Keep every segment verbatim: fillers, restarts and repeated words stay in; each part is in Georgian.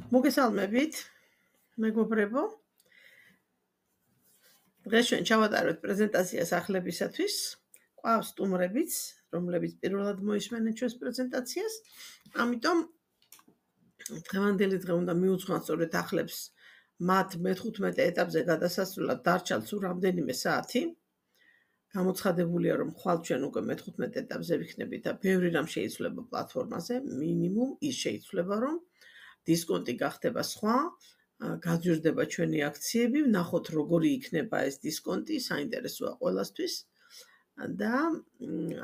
მოგესალმებით, მეგობრებო. დღეს ჩვენ ჩავატარებთ პრეზენტაციას ახლებისათვის. ყავს სტუმრებიც, რომლებიც პირველად მოისმენენ ჩვენს პრეზენტაციას. ამიტომ დღევანდელი დღე უნდა მიუძღვნათ სწორედ ახლებს მათ მეთერთმეტე ეტაპზე გადასასვლელად დარჩათ სულ რამდენიმე საათი. გამოცხადებულია, რომ ხვალ ჩვენ უკვე მეთერთმეტე ეტაპზე ვიქნებით და ბევრი რამ შეიცვლება პლატფორმაზე, მინიმუმ ის შეიცვლება, რომ დისკონტი გახდება სხვა, გაძვირდება ჩვენი აქციები, ვნახოთ როგორი იქნება ეს დისკონტი, საინტერესოა ყველასთვის და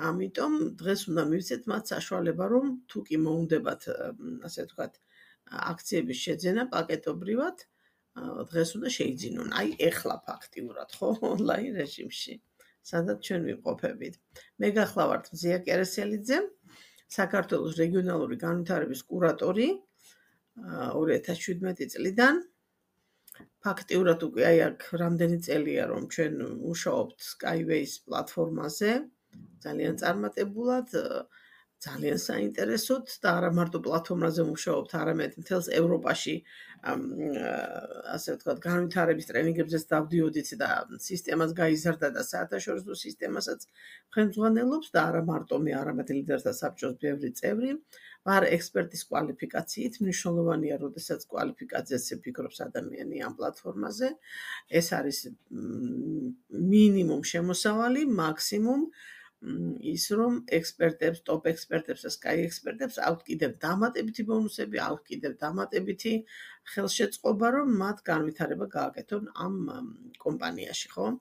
ამიტომ დღეს უნდა მივცეთ მათ საშუალება, რომ თუ კი მოუნდებათ, ასე ვთქვათ, აქციების შეძენა პაკეტობრივად, დღეს უნდა შეიძინონ. აი ეხლა ფაქტიურად, ხო, ონლაინ რეჟიმში, სადაც ჩვენ ვიმყოფებით. მე გახლავართ მზია კერესელიძე, საქართველოს რეგიონალური განვითარების კურატორი ორი ათას შვიდმეტი წლიდან. ფაქტიურად უკვე აი აქ რამდენი წელია რომ ჩვენ მუშაობთ Skyways პლატფორმაზე, ძალიან წარმატებულად, ძალიან საინტერესოდ და არა მარტო პლატფორმაზე მუშაობთ, არამედ მთელს ევროპაში ასე ვთქვათ, განვითარების ტრენინგებზეც დავდიოდით და სისტემას გაიზარდა და საათაშორისო სისტემასაც ხელმძღვანელობს და არა მარტო მე, არამედ ლიდერთა საბჭოს ბევრი წევრი. ვარ ექსპერტის კვალიფიკაციით, მნიშვნელოვანია, როდესაც კვალიფიკაციაზე ფიქრობს ადამიანი ამ პლატფორმაზე. ეს არის მინიმუმ შემოსავალი, მაქსიმუმ ის რომ ექსპერტებს, ტოპ ექსპერტებს და Sky ექსპერტებს აქვთ კიდევ დამატებითი ბონუსები, აქვთ კიდევ დამატებითი ხელშეწყობა, რომ მათ განვითარება გააკეთონ ამ კომპანიაში, ხო?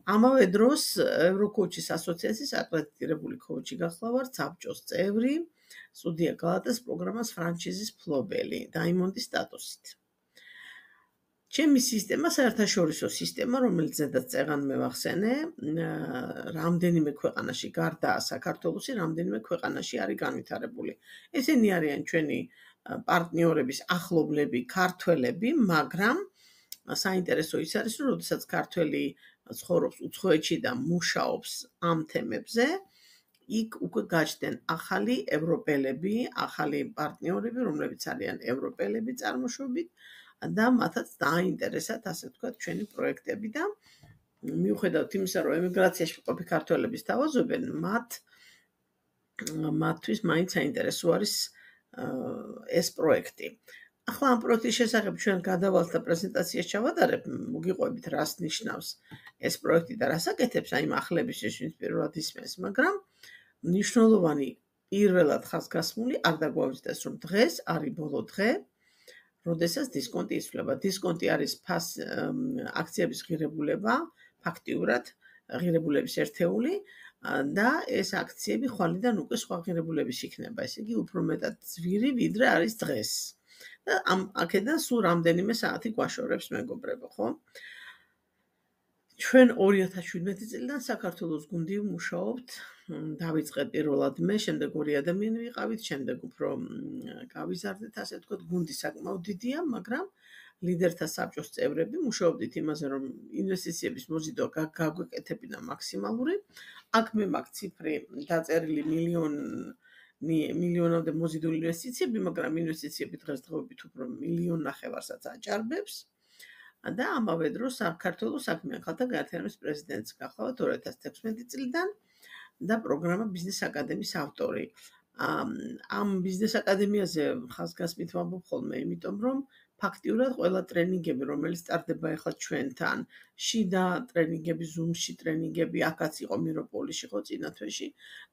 ამავე დროს ევროკოუჩის ასოციაციის აკრედიტირებული კოუჩი გახლავართ, საბჭოს წევრი, სტუდია გალატას პროგრამას ფრანჩიზის მფლობელი, დაიმონდის სტატუსით. ჩემი სისტემა საერთაშორისო სისტემა, რომელიც ზედაც წეღან მევახსენე, რამდენიმე ქვეყანაში, გარდა საქართველოსი, რამდენიმე ქვეყანაში არის განვითარებული. ესენი არიან ჩვენი პარტნიორების ახლობლები, ქართველები, მაგრამ საინტერესო ის არის, რომ როდესაც ქართველი ცხოვრობს უცხოეთში და მუშაობს ამ თემებზე, იქ უკვე გაჩნდნენ ახალი ევროპელები, ახალი პარტნიორები, რომლებიც არიან ევროპელები წარმოშობით და მათაც დააინტერესათ, ასე ვთქვათ, ჩვენი პროექტები და მიუხედავად იმისა, რომ ემიგრაციაში მყოფი ქართველები სთავაზობენ, მათ მათთვის მაინც საინტერესო არის ეს პროექტი. ახლა ამ პროექტის შესახებ ჩვენ გადავალთ და პრეზენტაციას ჩავატარებ, მოგიყვებით რას ნიშნავს ეს პროექტი და რას აკეთებს, აი ახლების ვინც პირველად ისმენს, მაგრამ მნიშვნელოვანი პირველად ხაზგასმული არ დაგვაუწყდეს, რომ დღეს არის ბოლო დღე, როდესაც დისკონტი იცვლება. დისკონტი არის ფას აქციების ღირებულება, ფაქტიურად ღირებულების ერთეული და ეს აქციები ხვალიდან უკვე სხვა ღირებულების იქნება, ესე იგი უფრო მეტად ძვირი, ვიდრე არის დღეს. და ამ აქედან სულ რამდენიმე საათი გვაშორებს, მეგობრებო, ხო? ჩვენ ორი ათას შვიდმეტი წლიდან საქართველოს გუნდი მუშაობთ, დავიწყეთ პირველად მე, შემდეგ ორი ადამიანი ვიყავით, შემდეგ უფრო გავიზარდეთ, ასე ვთქვათ, გუნდი საკმაოდ დიდია, მაგრამ ლიდერთა საბჭოს წევრები მუშაობდით იმაზე, რომ ინვესტიციების მოზიდვა გაგვეკეთებინა მაქსიმალური. აქ მე მაქვს ციფრი დაწერილი მილიონი მილიონამდე მოზიდული ინვესტიციები, მაგრამ ინვესტიციები დღესდღეობით უფრო მილიონ ნახევარსაც აჭარბებს. და ამავე დროს საქართველოს საქმიან ქალთა გაერთიანების პრეზიდენტს გახლავართ ორი ათას თექვსმეტი წლიდან და პროგრამა ბიზნეს აკადემიის ავტორი. ამ ბიზნეს აკადემიაზე ხაზგასმით ვამბობ ხოლმე, იმიტომ რომ ფაქტიურად ყველა ტრენინგები, რომელიც სტარდება ახლა ჩვენთან, შიდა ტრენინგები, ზუმში ტრენინგები, აქაც იყო მიროპოლიში, ხო, წინა თვეში,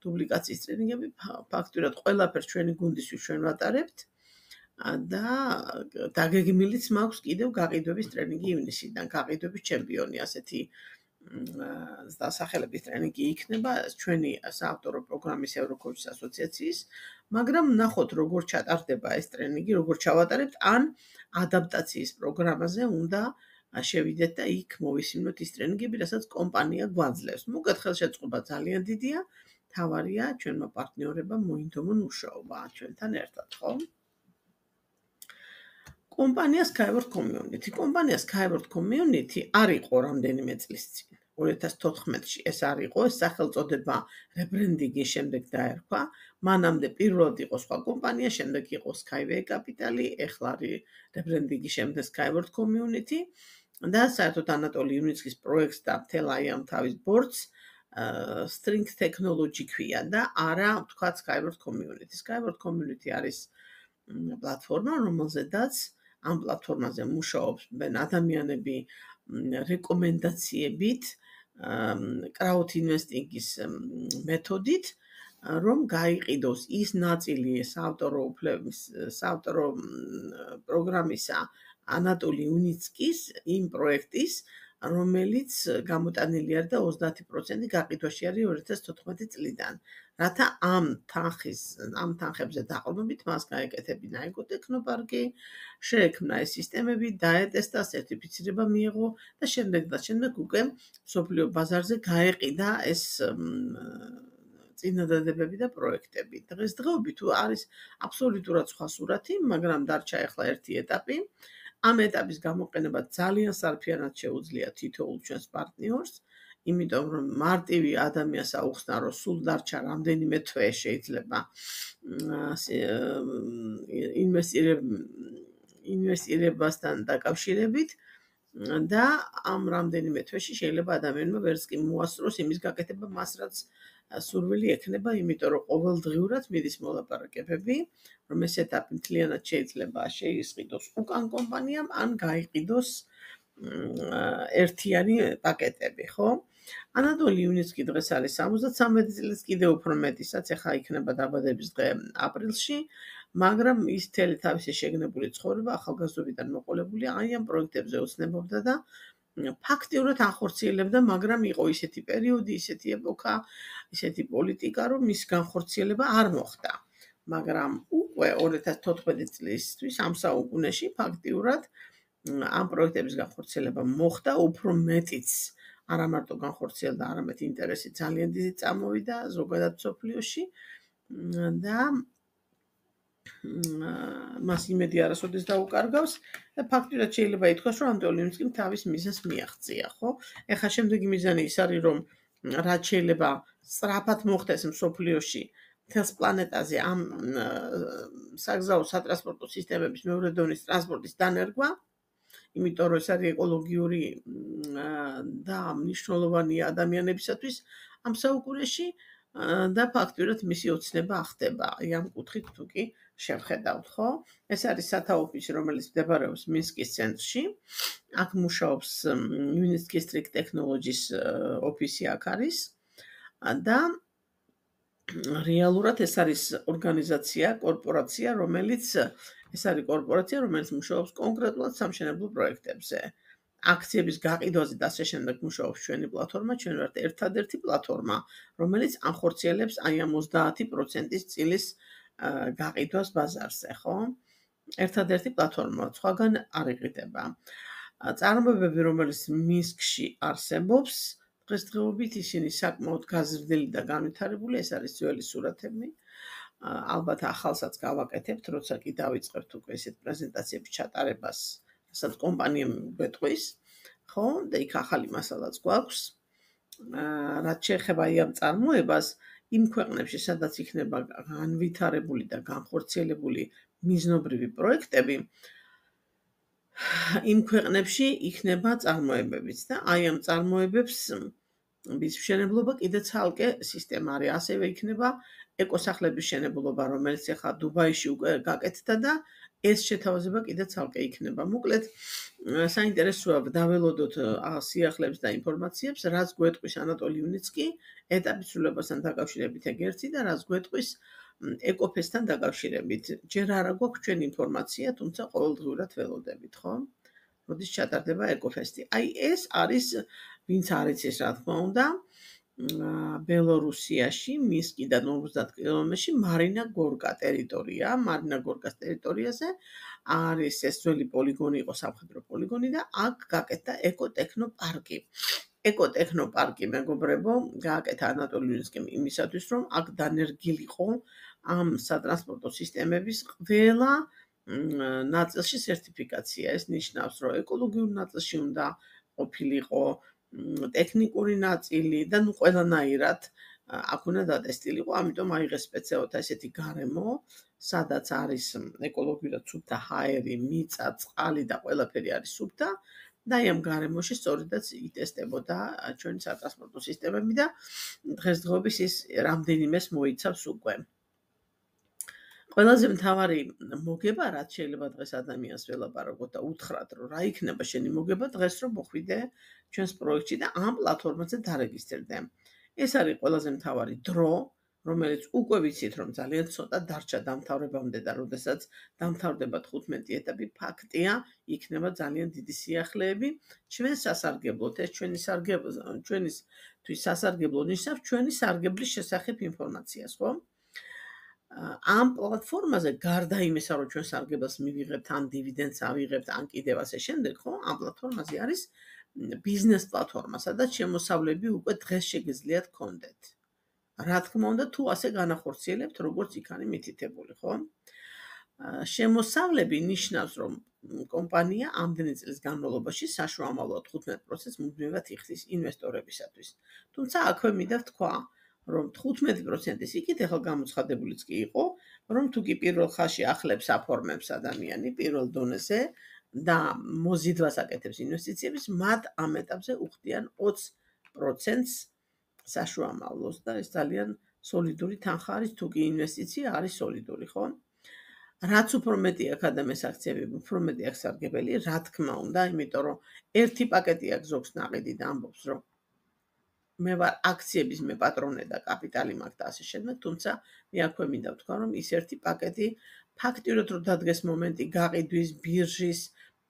დუბლიკაციის ტრენინგები, ფაქტიურად ყველაფერს ჩვენი გუნდისთვის ჩვენ ვატარებთ. და დაგეგმილიც მაქვს კიდევ გაყიდვების ტრენინგი ივნისიდან, გაყიდვების ჩემპიონი, ასეთი დასახელების ტრენინგი იქნება ჩვენი საავტორო პროგრამის ევროკოუჩის ასოციაციის, მაგრამ ნახოთ როგორ ჩატარდება ეს ტრენინგი, როგორ ჩავატარებთ, ან ადაპტაციის პროგრამაზე უნდა შევიდეთ და იქ მოვისმინოთ ის ტრენინგები, რასაც კომპანია გვაძლევს. მოგეთ ხელშეწყობა ძალიან დიდია, თავარია ჩვენმა პარტნიორებმა მოინდომონ მუშაობა ჩვენთან ერთად, ხო? კომპანია Skyward Community. კომპანია Skyward Community არ იყო რამდენიმე წლის წინ. ორი ათას თოთხმეტში ეს არ იყო, ეს სახელწოდება rebranding-ის შემდეგ დაერქვა. მანამდე პირველად იყო სხვა კომპანია, შემდეგ იყო Skyway Capital, ეხლა არის rebranding-ის შემდეგ Skyward Community და საერთოდ ანატოლი იუნიცკის პროექტს და მთელ აი ამ თავის ბორდს String Technology ქვია და არა ვთქვათ Skyward Community. Skyward Community არის პლატფორმა, რომელზედაც ამ პლატფორმაზე მუშაობენ ადამიანები რეკომენდაციებით, crowd investing-ის მეთოდით, რომ გაიყიდოს ის ნაწილი საავტორო უფლების, საავტორო პროგრამისა ანატოლი იუნიცკის იმ პროექტის, რომელიც გამოტანილი არის და ოცდაათი პროცენტი გაყიდვაში არის ორი ათას თოთხმეტი წლიდან. რათა ამ თანხის, ამ თანხებზე დაყრდნობით მას გაეკეთებინა ეკოტექნოპარკი, შეექმნა ეს სისტემები, დაეტესტა, სერტიფიცირება მიიღო და შემდეგ და შემდეგ უკვე მსოფლიო ბაზარზე გაეყიდა ეს წინადადებები და პროექტები. დღესდღეობით არის აბსოლუტურად სხვა სურათი, მაგრამ დარჩა ახლა ერთი ეტაპი. ამ ეტაპის გამოყენება ძალიან სარფიანად შეუძლია თითოეულ ჩვენს პარტნიორს, იმიტომ რომ მარტივი ადამიანს აუხსნა, რომ სულ დარჩა რამდენიმე თვე შეიძლება ინვესტირებასთან დაკავშირებით და ამ რამდენიმე თვეში შეიძლება ადამიანმა ვერც კი მოასწროს იმის გაკეთება მას, რაც სურვილი ექნება, იმიტომ რომ ყოველდღიურად მიდის მოლაპარაკებები, რომ ეს ეტაპი მთლიანად შეიძლება შეისყიდოს უკან კომპანიამ, ან გაიყიდოს ერთიანი პაკეტები, ხო? ანატოლი იუნიცკი დღეს არის სამოცდათვრამეტი წლის, კიდევ უფრო მეტი, სადაც ახლა იქნება დაბადების დღე აპრილში, მაგრამ ის მთელი თავისი შეგნებული ცხოვრება ახალგაზრდობიდან მოყოლებული აი ამ პროექტებზე ოცნებობდა და ფაქტიურად ახორციელებდა, მაგრამ იყო ისეთი პერიოდი, ისეთი ეპოქა, ისეთი პოლიტიკა, რომ მის განხორციელება არ მოხდა. მაგრამ უკვე ორი ათას თოთხმეტი წლისთვის ამ საუკუნეში ფაქტიურად ამ პროექტების განხორციელება მოხდა, უფრო მეტიც არა მარტო განხორციელდა, არამედ ინტერესი ძალიან დიდი წამოვიდა ზოგადად მსოფლიოში და მას იმედი არასოდეს დაუკარგავს და ფაქტიურად შეიძლება ითქვას, რომ ანატოლი იუნიცკიმ თავის მიზანს მიაღწია, ხო? ეხლა შემდეგი მიზანი ის არის, რომ რაც შეიძლება სწრაფად მოხდეს მსოფლიოში მთელს პლანეტაზე ამ საგზაო სატრანსპორტო სისტემების მეორე დონის ტრანსპორტის დანერგვა, იმიტომ რომ ეს არის ეკოლოგიური და მნიშვნელოვანია ადამიანებისათვის ამ საუკუნეში და ფაქტიურად მისი ოცნება ახდება ამ კუთხით თუ კი შევხედავთ, ხო? ეს არის სათავო ოფისი, რომელიც მდებარეობს მინსკის ცენტრში. აქ მუშაობს იუნიცკის String Technologies ოფისი აქ არის და რეალურად ეს არის ორგანიზაცია, კორპორაცია, რომელიც ეს არის კორპორაცია, რომელიც მუშაობს კონკრეტულად სამშენებლო პროექტებზე. აქციების გაყიდვაზე და ასე შემდეგ მუშაობს ჩვენი პლატფორმა, ჩვენ ვართ ერთადერთი პლატფორმა, რომელიც ახორციელებს აი ამ ოცდაათი პროცენტის წილის გაყიდვას ბაზარზე, ხო? ერთადერთი პლატფორმა, სხვაგან არ იყიდება. წარმოებები, რომელიც მინსკში არსებობს, დღესდღეობით ისინი საკმაოდ გაზრდილი და განვითარებული, ეს არის ძველი სურათები. ალბათ ახალსაც გავაკეთებთ, როცა კი დავიწყებთ უკვე ესეთ პრეზენტაციების ჩატარებას, რასაც კომპანიამ გვეტყვის, ხო? და იქ ახალი მასალაც გვაქვს. რაც შეეხება ამ წარმოებას, იმ ქვეყნებში, სადაც იქნება განვითარებული და განხორციელებული მიზნობრივი პროექტები, იმ ქვეყნებში იქნება წარმოებებიც და აი ამ წარმოებებს მის მშენებლობა კიდე ცალკე სისტემა არის. ასევე იქნება ეკოსახლების მშენებლობა, რომელიც ახლა დუბაიში უკვე გაკეთდა და ეს შეთავაზება კიდე ცალკე იქნება. მოკლედ, საინტერესოა დაველოდოთ სიახლეებს და ინფორმაციებს, რაც გვეტყვის ანატოლი იუნიცკი ეტაპის სრულებასთან დაკავშირებით ეგერთი და რაც გვეტყვის ეკოფესთან დაკავშირებით. ჯერ არა გვაქვს ჩვენ ინფორმაცია, თუმცა ყოველდღიურად ველოდებით, ხო? როდის ჩატარდება ეკოფესტი. აი ეს არის, ვინც არ იცის, რა თქმა უნდა, ბელორუსიაში, მინსკიდან ორმოცდაათ კილომეტრში მარინა გორკა ტერიტორია. მარინა გორკას ტერიტორიაზე არის ეს ძველი პოლიგონი, იყო სამხედრო პოლიგონი და აქ გაკეთდა ეკოტექნოპარკი. ეკოტექნოპარკი, მეგობრებო, გააკეთა ანატოლი იუნიცკიმ იმისათვის, რომ აქ დანერგილიყო ამ სატრანსპორტო სისტემების ყველა ნაწილში სერტიფიკაცია. ეს ნიშნავს, რომ ეკოლოგიურ ნაწილში უნდა ყოფილიყო ტექნიკური ნაწილი და ნუ ყველანაირად აქ უნდა დატესტილიყო, ამიტომ აიღეს სპეციალურად ესეთი გარემო, სადაც არის ეკოლოგიურად სუფთა ჰაერი, მიწა, წყალი და ყველაფერი არის სუფთა და აი ამ გარემოში სწორედაც იტესტებოდა ჩვენი სატრანსპორტო სისტემები და დღესდღეობის ის რამდენიმეს მოიცავს უკვე. ყველაზე მთავარი მოგება, რაც შეიძლება დღეს ადამიანს ველაპარაკოთ და უთხრათ, რომ რა იქნება შენი მოგება დღეს, რომ მოხვიდე ჩვენს პროექტში და ამ პლატფორმაზე დარეგისტრირდე. ეს არის ყველაზე მთავარი დრო, რომელიც უკვე ვიცით, რომ ძალიან ცოტა დარჩა დამთავრებამდე და როდესაც დამთავრდება თხუთმეტი ეტაპი, ფაქტია, იქნება ძალიან დიდი სიახლეები ჩვენ სასარგებლოდ. ეს ჩვენი სარგებლო, ჩვენისთვის სასარგებლო ნიშნავს ჩვენი სარგებლის შესახებ ინფორმაციას, ხო? ამ პლატფორმაზე გარდა იმისა, რომ ჩვენ სარგებელს მივიღებთ, ან დივიდენდს ავიღებთ, ან კიდევ ასე შემდეგ, ხო? ამ პლატფორმაზე არის ბიზნეს პლატფორმა, სადაც შემოსავლები უკვე დღეს შეგიძლიათ გქონდეთ. რა თქმა უნდა, თუ ასე განახორციელებთ, როგორც იქ არის მითითებული, ხო? შემოსავლები ნიშნავს, რომ კომპანია ამდენი წლის განმავლობაში საშუალო თხუთმეტ პროცენტს მუდმივად იხდის ინვესტორებისათვის. თუმცა აქვე მინდა ვთქვა, რომ თხუთმეტი პროცენტის იქით ახლა გამოცხადებულიც კი იყო, რომ თუ კი პირველ ხაზში ახლებს აფორმებს ადამიანი პირველ დონეზე და მოზიდვას აკეთებს ინვესტიციების, მათ ამ ეტაპზე უხდიან ოცი პროცენტს საშუალოს და ეს ძალიან სოლიდური თანხა არის, თუ კი ინვესტიცია არის სოლიდური, ხო? რაც უფრო მეტი აქვს ადამიანის აქციები, უფრო მეტი აქვს სარგებელი, რა თქმა უნდა, იმიტომ რომ ერთი პაკეტი აქვს ზოგს ნაყიდი და ამბობს, რომ მე ვარ აქციების მე პატრონე და კაპიტალი მაქვს და ასე შემდეგ, თუმცა მე აქვე მინდა ვთქვა, რომ ის ერთი პაკეტი ფაქტიურად რომ დადგეს მომენტი გაყიდვის, ბირჟის,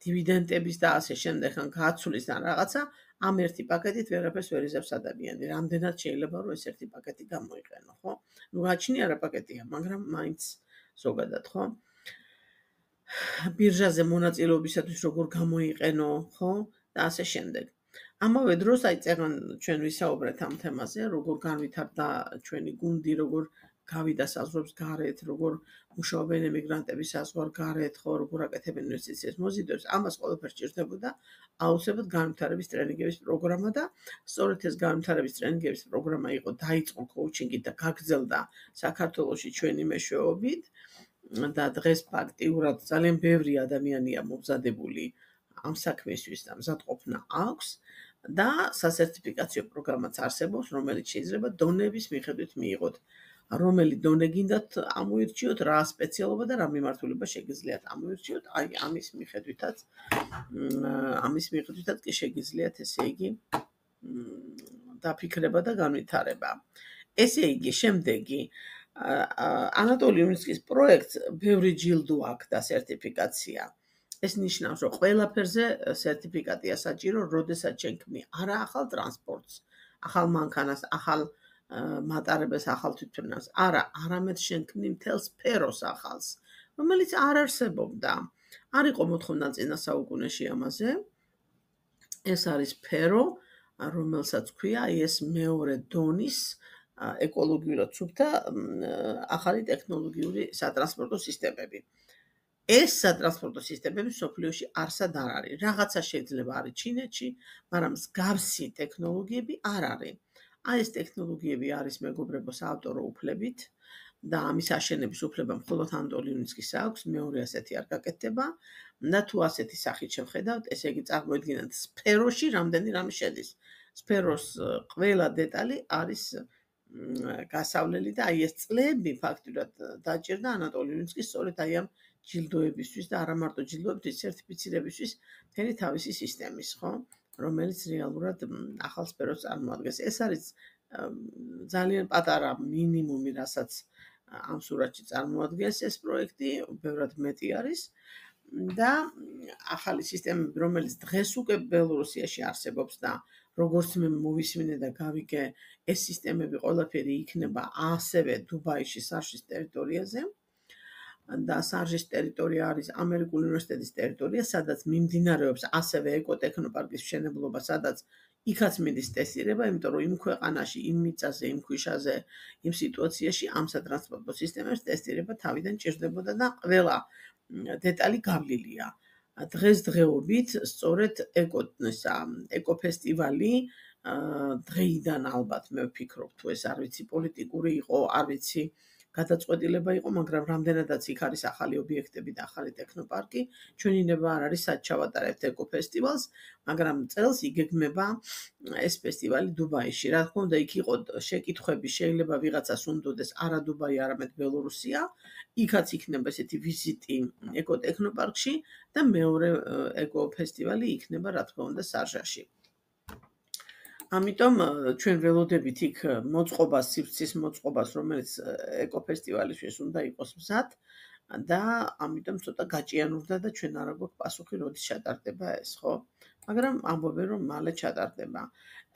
დივიდენდების და ასე შემდეგ, ან გაცვლის და რაღაცა, ამ ერთი პაკეტით ვერაფერს ვერ იზამს ადამიანი. რამდენად შეიძლება რომ ეს ერთი პაკეტი გამოიყენო, ხო? ნუ გაჩნია რა პაკეტია, მაგრამ მაინც ზოგადად, ხო? ბირჟაზე მონაწილეობისათვის როგორ გამოიყენო, ხო? და ასე შემდეგ. ამავე დროს აი წეგან ჩვენ ვისაუბრეთ ამ თემაზე, როგორ განვითარდა ჩვენი გუნდი, როგორ გავიდა საზღვრებს გარეთ, როგორ მუშაობენ ემიგრანტები საზღვარგარეთ, ხო, როგორ აკეთებენ ინვესტიციებს, მოზიდვებს, ამას ყველაფერს ჭირდებოდა აუცილებლად განვითარების ტრენინგების პროგრამა და სწორედ ეს განვითარების ტრენინგების პროგრამა იყო, დაიწყო კოუჩინგით და გაგრძელდა საქართველოში ჩვენი მეშვეობით და დღეს ფაქტიურად ძალიან ბევრი ადამიანია მომზადებული ამ საქმისთვის და მზადყოფნა აქვს და სასერტიფიკაციო პროგრამაც არსებობს, რომელიც შეიძლება დონების მიხედვით მიიღოთ. რომელი დონე გინდათ ამოირჩიოთ, რა სპეციალობა და რა მიმართულება შეგიძლიათ ამოირჩიოთ, აი ამის მიხედვითაც ამის მიხედვითაც კი შეგიძლიათ, ესე იგი, დაფიქრება და განვითარება. ესე იგი, შემდეგი ანატოლი იუნსკის პროექტს ბევრი ჯილდო აქვს და სერტიფიკაცია. ეს ნიშნავს, რომ ყველაფერზე სერტიფიკატია საჭირო, როდესაც შენქმნი არა ახალ ტრანსპორტს, ახალ მანქანას, ახალ მატარებელს, ახალ თვითმფრინავს, არა, არამედ შენქმნი მთელ სფეროს ახალს, რომელიც არ არსებობდა. არ იყო მოთხოვნა წინა საუკუნეში ამაზე. ეს არის სფერო, რომელსაც ქვია აი ეს მეორე დონის ეკოლოგიურად სუფთა ახალი ტექნოლოგიური სატრანსპორტო სისტემები. ეს სატრანსპორტო სისტემები მსოფლიოში არსად არ არის. რაღაცა შეიძლება არის ჩინეთში, მაგრამ მსგავსი ტექნოლოგიები არ არის. აი ეს ტექნოლოგიები არის მეგობრებო საავტორო უფლებით და ამის აშენების უფლება მხოლოდ ანატოლი იუნსკის აქვს, მეორე ასეთი არ გაკეთდება და თუ ასეთი სახით შევხედავთ, ესე იგი წარმოიდგინეთ სფეროში რამდენი რამე შედის. სფეროს ყველა დეტალი არის გასავლელი და აი ეს წლები ფაქტურად დაჭირდა ანატოლი იუნსკის სწორედ აი ამ ჯილდოებისთვის და არა მარტო ჯილდოებისთვის, სერტიფიცირებისთვის მთელი თავისი სისტემის, ხო? რომელიც რეალურად ახალ სფეროს წარმოადგენს. ეს არის ძალიან პატარა მინიმუმი, რასაც ამ სურათში წარმოადგენს ეს პროექტი, ბევრად მეტი არის და ახალი სისტემები, რომელიც დღეს უკვე ბელორუსიაში არსებობს და როგორც მე მოვისმინე და გავიგე, ეს სისტემები ყველაფერი იქნება ასევე დუბაიში, სარშის ტერიტორიაზე. და სარჟის ტერიტორია არის ამერიკული უნივერსიტეტის ტერიტორია, სადაც მიმდინარეობს ასევე ეკოტექნოპარკის მშენებლობა, სადაც იქაც მიდის ტესტირება, იმიტომ რომ იმ ქვეყანაში, იმ მიწაზე, იმ ქვიშაზე, იმ სიტუაციაში ამ სატრანსპორტო სისტემებს ტესტირება თავიდან ჭირდებოდა და ყველა დეტალი გავლილია. დღესდღეობით სწორედ ეკო ეკოფესტივალი დღეიდან ალბათ მე ვფიქრობ თუ ეს არ ვიცი პოლიტიკური იყო, არ ვიცი გადაწყვეტილება იყო, მაგრამ რამდენადაც იქ არის ახალი ობიექტები და ახალი ტექნოპარკი, ჩვენი ნება არ არის სად ჩავატარებთ ეკოფესტივალს, მაგრამ წელს იგეგმება ეს ფესტივალი დუბაიში. რა თქმა უნდა, იქ იყო შეკითხვები, შეიძლება ვიღაცას უნდოდეს არა დუბაი, არამედ ბელორუსია, იქაც იქნება ესეთი ვიზიტი ეკოტექნოპარკში და მეორე ეკოფესტივალი იქნება, რა თქმა უნდა, სარჟაში. ამიტომ ჩვენ ველოდებით იქ მოწყობას, სივრცის მოწყობას, რომელიც ეკოფესტივალისთვის უნდა იყოს მზად და ამიტომ ცოტა გაჭიანურდა და ჩვენ არ გვაქვს პასუხი, როდის ჩატარდება ეს, ხო? მაგრამ ამბობენ, რომ მალე ჩატარდება.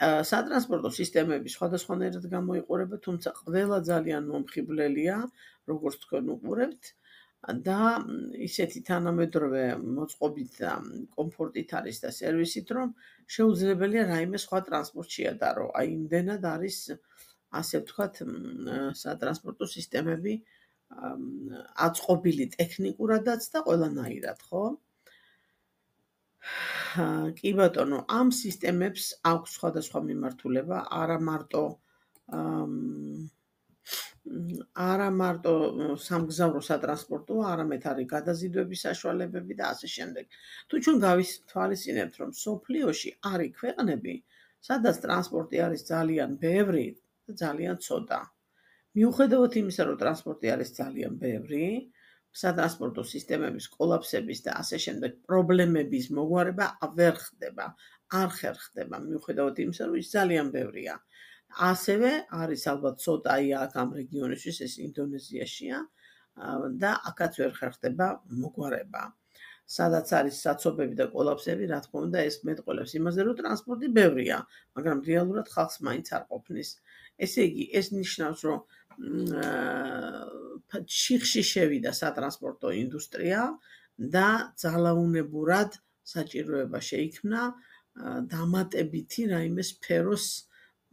სატრანსპორტო სისტემები სხვადასხვანაირად გამოიყურება, თუმცა ყველა ძალიან მომხიბლელია, როგორც თქვენ უყურებთ და ისეთი თანამედროვე მოწყობით და კომფორტით არის და სერვისით, რომ შეუძლებელია რაიმე სხვა ტრანსპორტ შეადარო. აი იმდენად არის, ასე ვთქვათ, სატრანსპორტო სისტემები აწყობილი ტექნიკურადაც და ყველანაირად, ხო? კი ბატონო, ამ სისტემებს აქვს სხვადასხვა მიმართულება, არა მარტო არა მარტო სამგზავრო სატრანსპორტო, არამედ არის გადაზიდვების საშუალებები და ასე შემდეგ. თუ ჩვენ გავისთვალისწინებთ, რომ სოფლიოში არის ქვეყნები, სადაც ტრანსპორტი არის ძალიან ბევრი და ძალიან ცოტა. მიუხედავად იმისა, რომ ტრანსპორტი არის ძალიან ბევრი, სატრანსპორტო სისტემების კოლაფსების და ასე შემდეგ პრობლემების მოგვარება ვერ ხდება, არ ხერხდება, მიუხედავად იმისა, რომ ის ძალიან ბევრია. ასევე არის ალბათ ცოტაი აქ ამ რეგიონისთვის, ეს ინდონეზიაშია და აქაც ვერ ხერხდება მოგვარება. სადაც არის საცობები და კოლაფსები, რა თქმა უნდა, ეს მეტყველებს იმაზე, რომ ტრანსპორტი ბევრია, მაგრამ რეალურად ხალხს მაინც არ ყოფნის. ესე იგი, ეს ნიშნავს, რომ შიხში შევიდა სატრანსპორტო ინდუსტრია და ძალაუნებურად საჭიროება შეიქმნა დამატებითი რაიმე სფეროს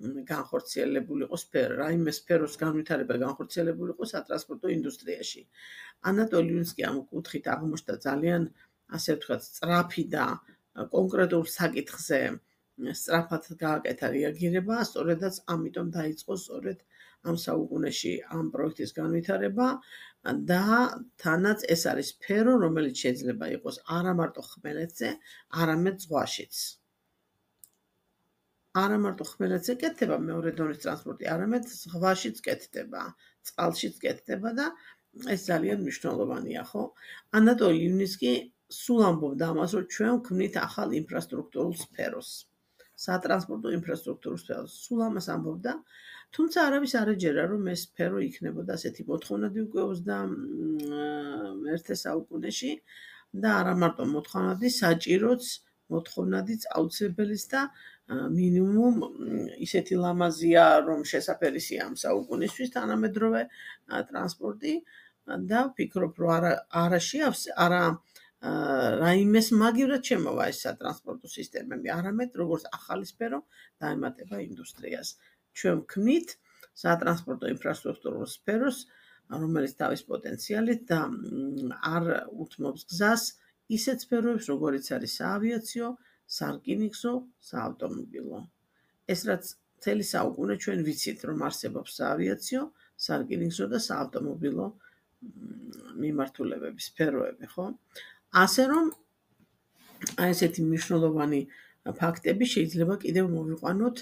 განხორციელებულიყო სფერო, რაიმე სფეროს განვითარება განხორციელებულიყო სატრანსპორტო ინდუსტრიაში. ანატოლი იუნსკი ამ კუთხით აღმოჩნდა ძალიან, ასე ვთქვათ, სწრაფი და კონკრეტულ საკითხზე სწრაფად გააკეთა რეაგირება, სწორედაც ამიტომ დაიწყო სწორედ ამ საუკუნეში ამ პროექტის განვითარება და თანაც ეს არის სფერო, რომელიც შეიძლება იყოს არა მარტო ხმელეთზე, არამედ ზღვაშიც. არა მარტო ხმელეთზე კეთდება მეორე დონის ტრანსპორტი, არამედ ზღვაშიც კეთდება, წყალშიც კეთდება და ეს ძალიან მნიშვნელოვანია, ხო? ანატოლი იუნსკი სულ ამბობდა ამას, რომ ჩვენ ვქმნით ახალ ინფრასტრუქტურულ სფეროს. სატრანსპორტო ინფრასტრუქტურულ სფეროს. სულ ამას ამბობდა, თუმცა არავის არ ეჯერა, რომ ეს სფერო იქნებოდა ასეთი მოთხოვნადი უკვე ოცდამეერთე საუკუნეში და არა მარტო მოთხოვნადი, საჭიროც, მოთხოვნადიც, აუცილებელიც და მინიმუმ ისეთი ლამაზია, რომ შესაფერისია ამ საუკუნისთვის თანამედროვე ტრანსპორტი და ვფიქრობ, რომ არა არა შეავს, არა რაიმეს მაგივრად შემოვა ეს სატრანსპორტო სისტემები, არამედ როგორც ახალი სფერო დაემატება ინდუსტრიას. ჩვენ ვქმნით სატრანსპორტო ინფრასტრუქტურულ სფეროს, რომელიც თავის პოტენციალით და არ უთმობს გზას ისეთ სფეროებს, როგორიც არის საავიაციო, სარკინიგზო, საავტომობილო. ეს რაც მთელი საუკუნე ჩვენ ვიცით, რომ არსებობს საავიაციო, სარკინიგზო და საავტომობილო მიმართულებები, სფეროები, ხო? ასე რომ აი ესეთი მნიშვნელოვანი ფაქტები შეიძლება კიდევ მოვიყვანოთ,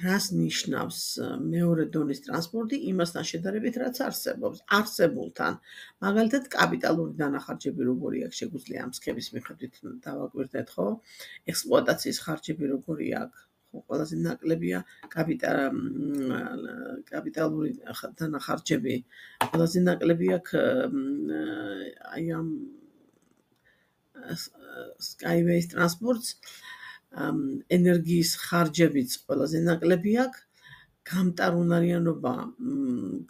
რას ნიშნავს მეორე დონის ტრანსპორტი იმასთან შედარებით, რაც არსებობს, არსებულთან. მაგალითად, კაპიტალური დანახარჯები როგორი აქვს, შეგვიძლია ამ სქემის მიხედვით დავაკვირდეთ, ხო? ექსპლუატაციის ხარჯები როგორი აქვს, ხო, ყველაზე ნაკლებია კაპიტალური დანახარჯები, ყველაზე ნაკლები აქვს აი ამ Skyways ტრანსპორტს, ენერგიის ხარჯებიც ყველაზე ნაკლები აქვს, გამტარუნარიანობა,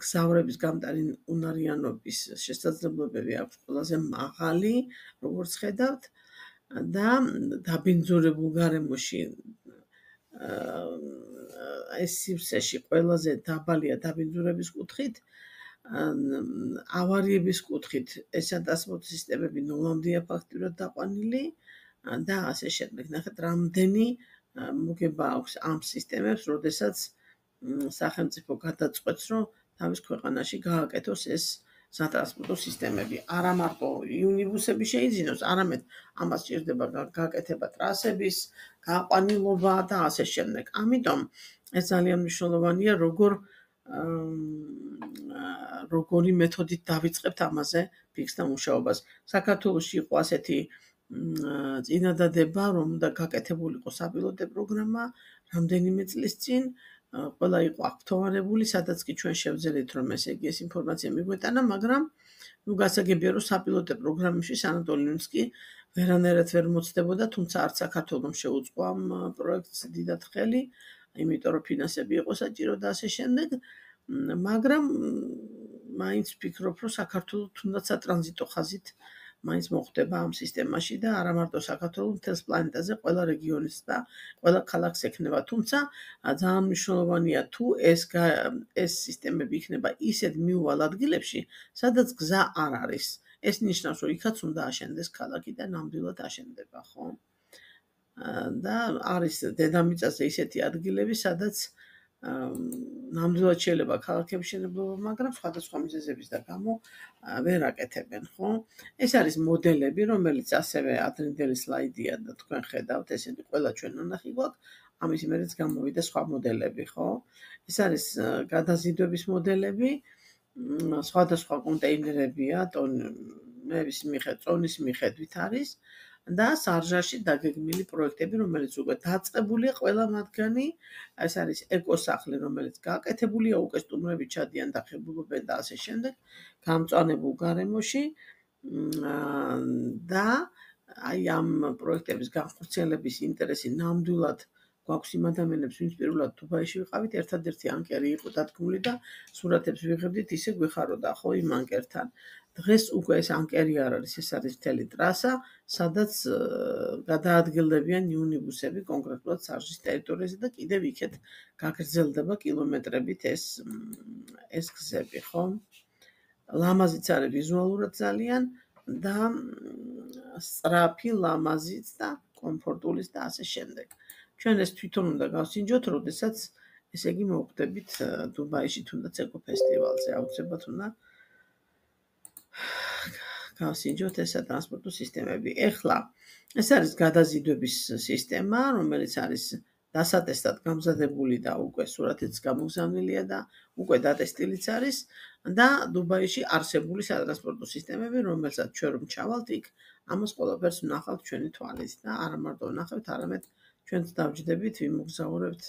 გზავრების გამტარუნარიანობის შესაძლებლობები აქვს ყველაზე მაღალი, როგორც ხედავთ და დაბინძურებულ გარემოში ეს სივრცეში ყველაზე დაბალია დაბინძურების კუთხით ავარიების კუთხით ეს ტრანსპორტ სისტემები ნოლამდეა ფაქტურად დაყვანილი და ასე შემდეგ. ნახეთ, რამდენი მოგება აქვს ამ სისტემებს, როდესაც სახელმწიფო გადაწყვეტს, რომ თავის ქვეყანაში გააკეთოს ეს სატრანსპორტო სისტემები. არა მარტო იუნიბუსები შეიძინოს, არამედ ამას სჭირდება გაკეთება ტრასების, გაყვანილობა და ასე შემდეგ. ამიტომ ეს ძალიან მნიშვნელოვანია, როგორ როგორი მეთოდით დავიწყებთ ამაზე ფიქსდა მუშაობას. საქართველოში იყო ასეთი წინადადება, რომ და გაკეთებულიყო საპილოტო პროგრამა რამდენიმე წლის წინ, ყველა იყო აქტოვანებული, სადაც კი ჩვენ შევძელით, რომ ესე იგი ეს ინფორმაცია მიგვეტანა, მაგრამ ნუ გასაგებია, რომ საპილოტო პროგრამებში ანატოლინსკი ვერანაირად ვერ მოცდებოდა, თუმცა არც საქართველოს შეუწყო ამ პროექტს დიდად ხელი, იმიტომ რომ ფინანსები იყო საჭირო და ასე შემდეგ, მაგრამ მაინც ვფიქრობ, რომ საქართველოს თუნდაც სატრანზიტო ხაზით მაინც მოხდება ამ სისტემაში და არა მარტო საქართველოს, მთელს პლანეტაზე ყველა რეგიონის და ყველა ქალაქს ექნება. თუმცა ძალიან მნიშვნელოვანია თუ ეს ეს სისტემები იქნება ისეთ მიუვალ ადგილებში, სადაც გზა არ არის. ეს ნიშნავს, რომ იქაც უნდა აშენდეს ქალაქი და ნამდვილად აშენდება, ხო? და არის დედამიწაზე ისეთი ადგილები, სადაც ნამდვილად შეიძლება ქალაქების მშენებლობა, მაგრამ სხვადასხვა მიზეზების და გამო ვერ აკეთებენ, ხო? ეს არის მოდელები, რომელიც ასევე ადრინდელი სლაიდია და თქვენ ხედავთ, ესეთი ყველა ჩვენ ნახი გვაქვს, ამის მერეც გამოვიდა სხვა მოდელები, ხო? ეს არის გადაზიდვების მოდელები, სხვადასხვა კონტეინერებია, ტონების მიხედვით, წონის მიხედვით არის და სარჟაში დაგეგმილი პროექტები, რომელიც უკვე დაწყებულია ყველა მათგანი, ეს არის ეკოსახლი, რომელიც გაკეთებულია, უკვე სტუმრები ჩადიან და ხებულობენ და ასე შემდეგ, გამწვანებულ გარემოში და აი ამ პროექტების განხორციელების ინტერესი ნამდვილად გვაქვს იმ ადამიანებს, ვინც პირველად დუბაიში ვიყავით, ერთადერთი ანკერი იყო დადგმული და სურათებს ვიღებდით, ისე გვეხაროდა ხო იმ ანკერთან. დღეს უკვე ეს ანკერი არ არის, ეს არის მთელი ტრასა, სადაც გადაადგილდებიან იუნიბუსები კონკრეტულად სარჟის ტერიტორიაზე და კიდევ იქეთ გაგრძელდება კილომეტრებით ეს ეს გზები, ხო? ლამაზიც არის ვიზუალურად ძალიან და სწრაფი, ლამაზიც და კომფორტულიც და ასე შემდეგ. ჩვენ ეს თვითონ უნდა გავსინჯოთ, როდესაც ესე იგი მოვხდებით დუბაიში თუნდაც ეკო ფესტივალზე, აუცილებლად უნდა გავსინჯოთ ეს სატრანსპორტო სისტემები. ეხლა ეს არის გადაზიდვების სისტემა, რომელიც არის დასატესტად გამზადებული და უკვე სურათიც გამოგზავნილია და უკვე დატესტილიც არის და დუბაიში არსებული სატრანსპორტო სისტემები, რომელსაც ჩვენ რომ ჩავალთ იქ, ამას ყველაფერს ვნახავთ ჩვენი თვალით და არა მარტო ვნახავთ, არამედ ჩვენც დავჯდებით, ვიმოგზაურებთ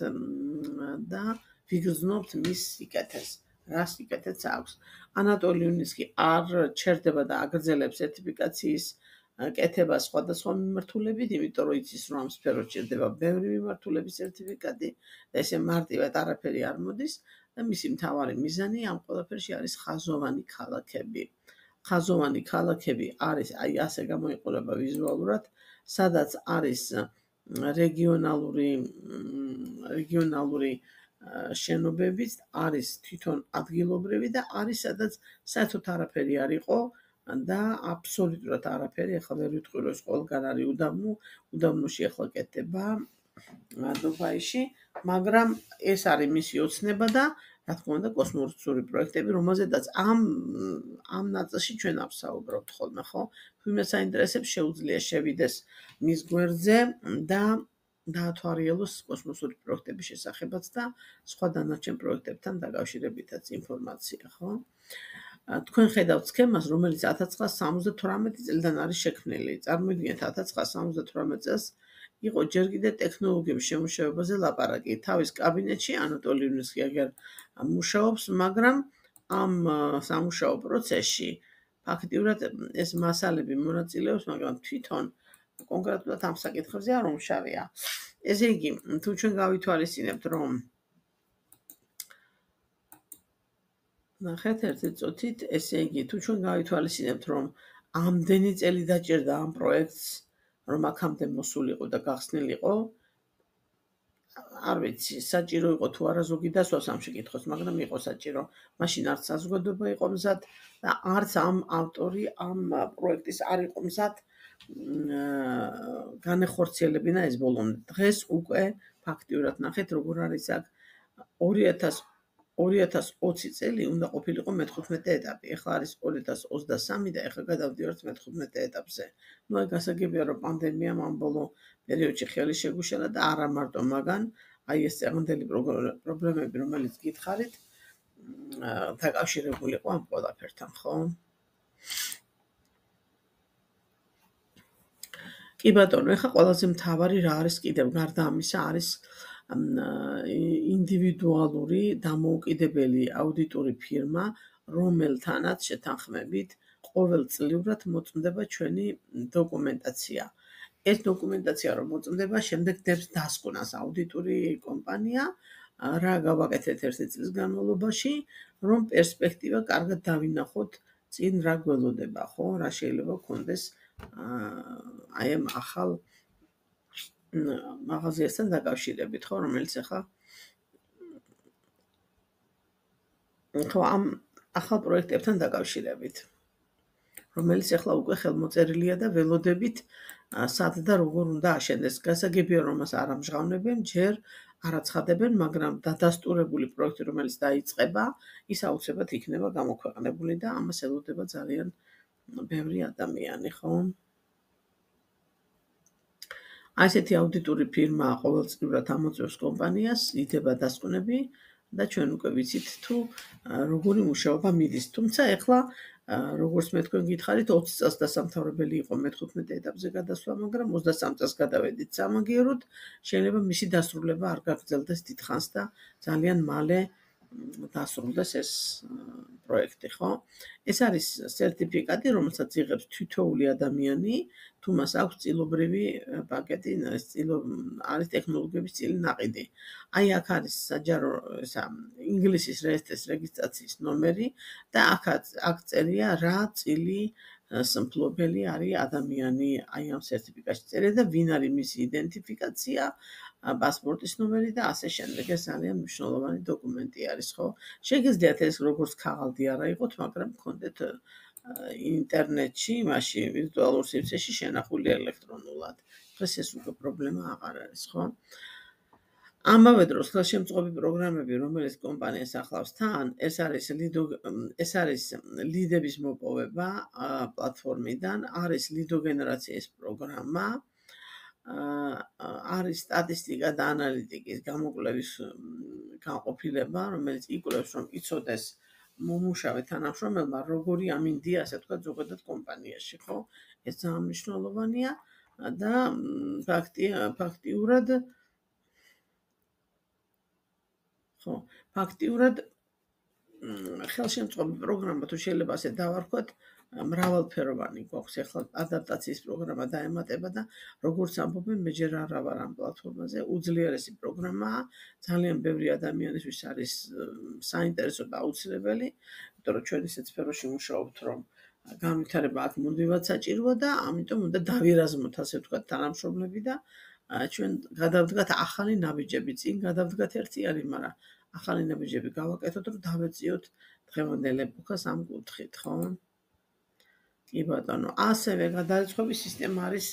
და ვიგრძნობთ მის სიკეთეს. რა სიკეთეც აქვს. ანატოლინსკი არ ჩერდება და აგრძელებს სერტიფიკაციის კეთებას სხვადასხვა მიმართულებით, იმიტომ რომ იცის, რომ ამ სფეროში ჩერდება ბევრი მიმართულების სერტიფიკატი და ესე მარტივად არაფერი არ მოდის და მისი მთავარი მიზანი ამ ყველაფერში არის ხაზოვანი ქალაქები. ხაზოვანი ქალაქები არის, აი ასე გამოიყურება ვიზუალურად, სადაც არის რეგიონალური რეგიონალური შენობებიც, არის თვითონ ადგილობრივი და არის სადაც საერთოდ არაფერი არ იყო და აბსოლუტურად არაფერი, ახლა ვერ ვიტყვი რომ ეს ყველგან არის უდაბნო, უდაბნოში ახლა კეთდება დუბაიში, მაგრამ ეს არის მისი ოცნება და რა თქმა უნდა კოსმოსური პროექტები, რომელზედაც ამ ამ ნაწილში ჩვენ ავსაუბრობთ ხოლმე, ხო? ვინმეს აინტერესებს, შეუძლია შევიდეს მის გვერდზე და დაათვალიეროს კოსმოსური პროექტების შესახებაც და სხვა დანარჩენ პროექტებთან დაკავშირებითაც ინფორმაცია, ხო? თქვენ ხედავთ სქემას, რომელიც ათას ცხრაას სამოცდათვრამეტი წლიდან არის შექმნილი. წარმოიდგინეთ, ათას ცხრაას სამოცდათვრამეტი წელს იყო ჯერ კიდევ ტექნოლოგიების შემუშავებაზე ლაპარაკი. თავის კაბინეტში ანატოლინსკი აგერ მუშაობს, მაგრამ ამ სამუშაო პროცესში ფაქტიურად ეს მასალები მონაწილეობს, მაგრამ თვითონ კონკრეტულად ამ საკითხებზე არ უმშავია. ესე იგი, თუ ჩვენ გავითვალისწინებთ, რომ ნახეთ ერთი წუთით, ესე იგი, თუ ჩვენ გავითვალისწინებთ, რომ ამდენი წელი დაჭირდა ამ პროექტს, რომ აქამდე მოსულიყო და გახსნილიყო, არ ვიცი, საჭირო იყო თუ არა ზოგი დასვას ამ შეკითხვას, მაგრამ იყო საჭირო. მაშინ არც საზოგადოება იყო მზად და არც ამ ავტორი ამ პროექტის არ იყო მზად განეხორციელებინა ეს ბოლომდე. დღეს უკვე ფაქტიურად ნახეთ, როგორ არის აქ ორი ათას ოცი წელი უნდა ყოფილიყო მეთხუთმეტე ეტაპი. ეხლა არის ორი ათას ოცდასამი და ეხლა გადავდივართ მეთხუთმეტე ეტაპზე. ნუ აი გასაგებია, რომ პანდემიამ ამ ბოლო პერიოდში ხელი შეგუშალა და არა მარტო მაგან, აი ეს წეღანდელი პრობლემები, რომელიც გითხარით, დაკავშირებული იყო ამ ყველაფერთან, ხო? კი ბატონო, ეხლა ყველაზე მთავარი რა არის კიდევ გარდა ამისა არის ინდივიდუალური დამოუკიდებელი აუდიტური ფირმა, რომელთანაც შეთანხმებით ყოველწლიურად მოწმდება ჩვენი დოკუმენტაცია. ეს დოკუმენტაცია რომ მოწმდება, შემდეგ დებს დასკვნას აუდიტური კომპანია, რა გავაკეთეთ ერთი წლის განმავლობაში, რომ პერსპექტივა კარგად დავინახოთ წინ რა გველოდება, ხო? რა შეიძლება გქონდეს აი ამ ახალ მაღაზიასთან დაკავშირებით, ხო, რომელიც ახლა ხო ამ ახალ პროექტებთან დაკავშირებით, რომელიც ახლა უკვე ხელმოწერილია და ველოდებით სად და როგორ უნდა აშენდეს. გასაგებია, რომ მას არ ამჟღავნებენ, ჯერ არ აცხადებენ, მაგრამ დადასტურებული პროექტი, რომელიც დაიწყება, ის აუცილებლად იქნება გამოქვეყნებული და ამას ელოდება ძალიან ბევრი ადამიანი, ხო? ასეთი აუდიტური ფირმა ყოველწლიურად ამოწევს კომპანიას, იდება დასკვნები და ჩვენ უკვე ვიცით თუ როგორი მუშაობა მიდის. თუმცა ეხლა როგორც მე თქვენ გითხარით, ოცი წელს დასამთავრებელი იყო მეთხუთმეტე ეტაპზე გადასვლა, მაგრამ ოცდასამ წელს გადავედით სამაგიეროდ, შეიძლება მისი დასრულება არ გაგრძელდეს დიდხანს და ძალიან მალე დასრულდეს ეს პროექტი, ხო? ეს არის სერტიფიკატი, რომელსაც იღებს თითოეული ადამიანი, თუ მას აქვს წილობრივი პაკეტი, არის ტექნოლოგიების წილი ნაყიდი. აი აქ არის საჯარო ესა ინგლისის რეესტრის რეგისტრაციის ნომერი და აქ აქ წერია რა წილი მსმლობელი არის ადამიანი აი ამ სერტიფიკატში წერია და ვინ არის მისი იდენტიფიკაცია, პასპორტის ნომერი და ასე შემდეგ. ეს ძალიან მნიშვნელოვანი დოკუმენტი არის, ხო? შეგიძლიათ ეს როგორც ქაღალდი არა იყოთ, მაგრამ გქონდეთ ინტერნეტში, მაშინ ვირტუალურ სივრცეში შენახული ელექტრონულად. დღეს ეს უკვე პრობლემა აღარ არის, ხო? ამავე დროს ხელშემწყობი პროგრამები, რომელიც კომპანიას ახლავს თან, ეს არის ლიდო ეს არის ლიდების მოპოვება პლატფორმიდან, არის ლიდოგენერაციის პროგრამა, არის სტატისტიკა და ანალიტიკის გამოკვლევის განყოფილება, რომელიც იკვლევს, რომ იცოდეს მომუშავე თანამშრომელმა როგორი ამინდია, ასე ვთქვათ, ზოგადად კომპანიაში, ხო? ეს ძალიან მნიშვნელოვანია და ფაქტიურად ხო, ფაქტიურად ხელშემწყობი პროგრამა თუ შეიძლება ასე დავარქვათ, მრავალფეროვანი გვაქვს. ეხლა ადაპტაციის პროგრამა დაემატება და როგორც ამბობენ, მე ჯერ არა ვარ ამ პლატფორმაზე, უძლიერესი პროგრამაა, ძალიან ბევრი ადამიანისთვის არის საინტერესო და აუცილებელი, იმიტომ რომ ჩვენ ისეთ სფეროში მუშაობთ, რომ განვითარება აქ მუდმივად საჭიროა და ამიტომ უნდა დავირაზმოთ, ასე ვთქვათ, თანამშრომლები და ჩვენ გადავდგათ ახალი ნაბიჯები. წინ გადავდგათ ერთი არის, მაგრამ ახალი ნაბიჯები გავაკეთოთ, რომ დავეწიოთ დღევანდელ ეპოქას ამ კუთხით, ხო? კი ბატონო, ასევე გადარიცხვის სისტემა არის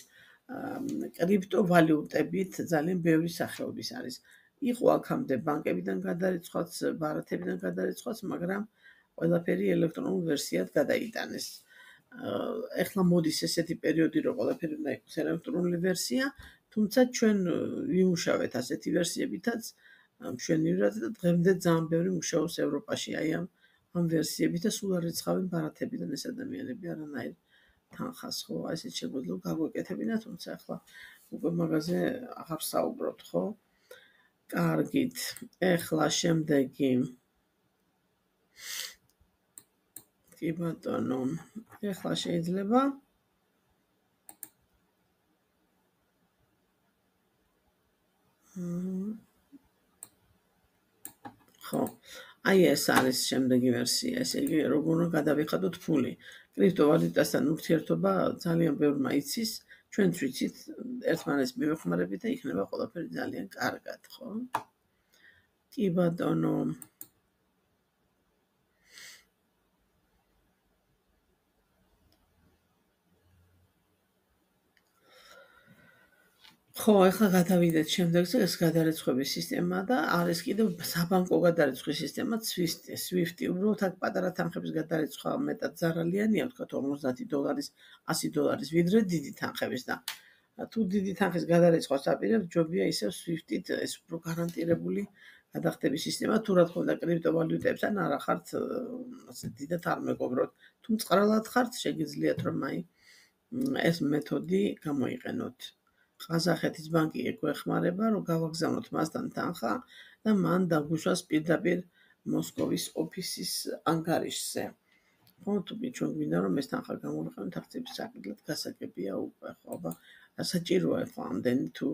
კრიპტოვალიუტებით, ძალიან ბევრი სახეობის არის. იყო აქამდე ბანკებიდან გადარიცხვაც, ბარათებიდან გადარიცხვაც, მაგრამ ყველაფერი ელექტრონულ ვერსიად გადაიტანეს. ეხლა მოდის ესეთი პერიოდი, რომ ყველაფერი უნდა იყოს ელექტრონული ვერსია, თუმცა ჩვენ ვიმუშავეთ ასეთი ვერსიებითაც მშვენივრად და დღემდე ძალიან ბევრი მუშაობს ევროპაში აი ამ ამ ვერსიებით და სულ არ რიცხავენ ბარათებიდან ეს ადამიანები არანაირ თანხას, ხო? ესეც შეგვიძლია გაგვეკეთებინა, თუმცა ახლა უკვე მაგაზე აღარ საუბრობთ, ხო? კარგით, ეხლა შემდეგი კი ბატონო, ეხლა შეიძლება ხო, აი ეს არის შემდეგი ვერსია, ესე იგი როგორ უნდა გადავიხადოთ ფული. კრიპტოვალუტასთან ურთიერთობა ძალიან ბევრმა იცის, ჩვენც ვიცით, ერთმანეთს მივეხმარებით და იქნება ყველაფერი ძალიან კარგად, ხო? კი ბატონო. ხო, ახლა გადავიდეთ შემდეგზე, ეს გადარიცხვის სისტემა და არის კიდევ საბანკო გადარიცხვის სისტემა Swift-ი, Swift-ი. უბრალოდ აქ პატარა თანხების გადარიცხვა მეტად ზარალიანია, ვთქვათ ორმოცდაათი დოლარის, ასი დოლარის, ვიდრე დიდი თანხების და თუ დიდი თანხის გადარიცხვას აპირებთ, ჯობია ისევ Swift-ით ეს უფრო გარანტირებული გადახდების სისტემა, თუ რა თქმა უნდა კრიპტოვალიუტებთან არა ხართ ასე დიდად არ მეგობრობთ. თუ მწყრალად ხართ, შეგიძლიათ რომ აი ეს მეთოდი გამოიყენოთ. ყაზახეთის ბანკი ეგვეხმარება, რომ გავაგზავნოთ მასთან თანხა და მან დაგვიშვას პირდაპირ მოსკოვის ოფისის ანგარიშზე. ხო, თუ ჩვენ გვინდა რომ ეს თანხა გამოვიყენოთ აქციების საკითხად, გასაგებია უკვე, ხო, აბა საჭიროა ხო ამდენი თუ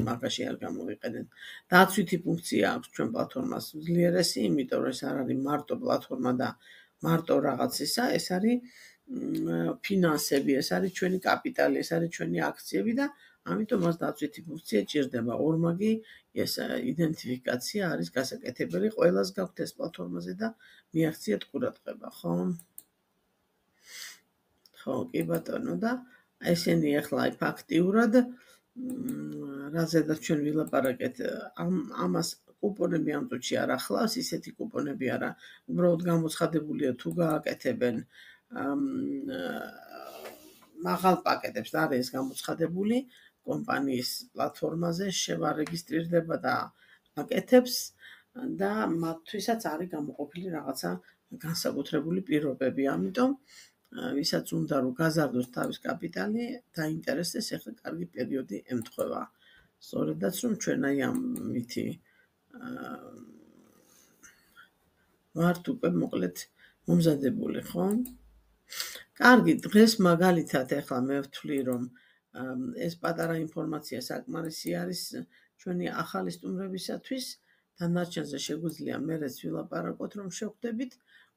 მაგაში არ გამოვიყენეთ. დაცვითი ფუნქცია აქვს ჩვენ პლატფორმას უძლიერესი, იმიტომ რომ ეს არ არის მარტო პლატფორმა და მარტო რაღაც ისა, ეს არის ფინანსები, ეს არის ჩვენი კაპიტალი, ეს არის ჩვენი აქციები და ამიტომ მას დაცვითი ფუნქცია ჭირდება. ორმაგი ეს იდენტიფიკაცია არის გასაკეთებელი, ყველას გაქვთ ეს პლატფორმაზე და მიაღწიეთ ყურადღება, ხო? ხო, კი ბატონო და ესენი ახლა აი ფაქტიურად რაზედაც ჩვენ ვილაპარაკეთ, ამას კუპონები ამ წუთში არ ახლავს, ისეთი კუპონები არა, უბრალოდ გამოცხადებულია თუ გააკეთებენ მაღალ პაკეტებს და არის გამოცხადებული კომპანიის პლატფორმაზე შევარეგისტრირდება და აკეთებს და მათთვისაც არის გამოყოფილი რაღაცა განსაკუთრებული პირობები. ამიტომ ვისაც უნდა რომ გაზარდოს თავის კაპიტალი, დაინტერესდეს, ახლა კარგი პერიოდი ემთხვევა. სწორედაც რომ ჩვენ აი ამითი ვართ უკვე მოკლედ მომზადებული, ხო? კარგი, დღეს მაგალითად ახლა მე ვთვლი რომ ეს პატარა ინფორმაცია საკმარისი არის ჩვენი ახალი სტუმრებისათვის. დანარჩენზე შეგვიძლია მერეც ვილაპარაკოთ რომ შევხვდებით.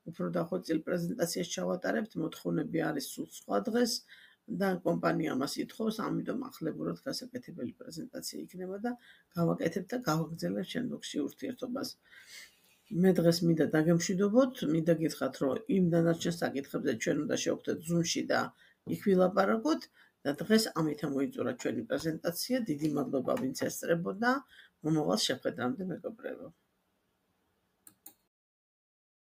უფრო დახვეწილ პრეზენტაციას ჩავატარებთ, მოთხოვნები არის სულ სხვა დღეს და კომპანია მას ითხოვს, ამიტომ ახლებურად გასაკეთებელი პრეზენტაცია იქნება და გავაკეთებთ და გავაგრძელებთ შემდგომში ურთიერთობას. მე დღეს მინდა დაგემშვიდობოთ, მინდა გითხრათ, რომ იმ დანარჩენ საკითხებზე ჩვენ უნდა შევხვდეთ Zoom-ში და იქ ვილაპარაკოთ და დღეს ამით მოიწურა ჩვენი პრეზენტაცია. დიდი მადლობა ვინც ესწრებოდა. მომავალ შეხვედრამდე მეგობრებო.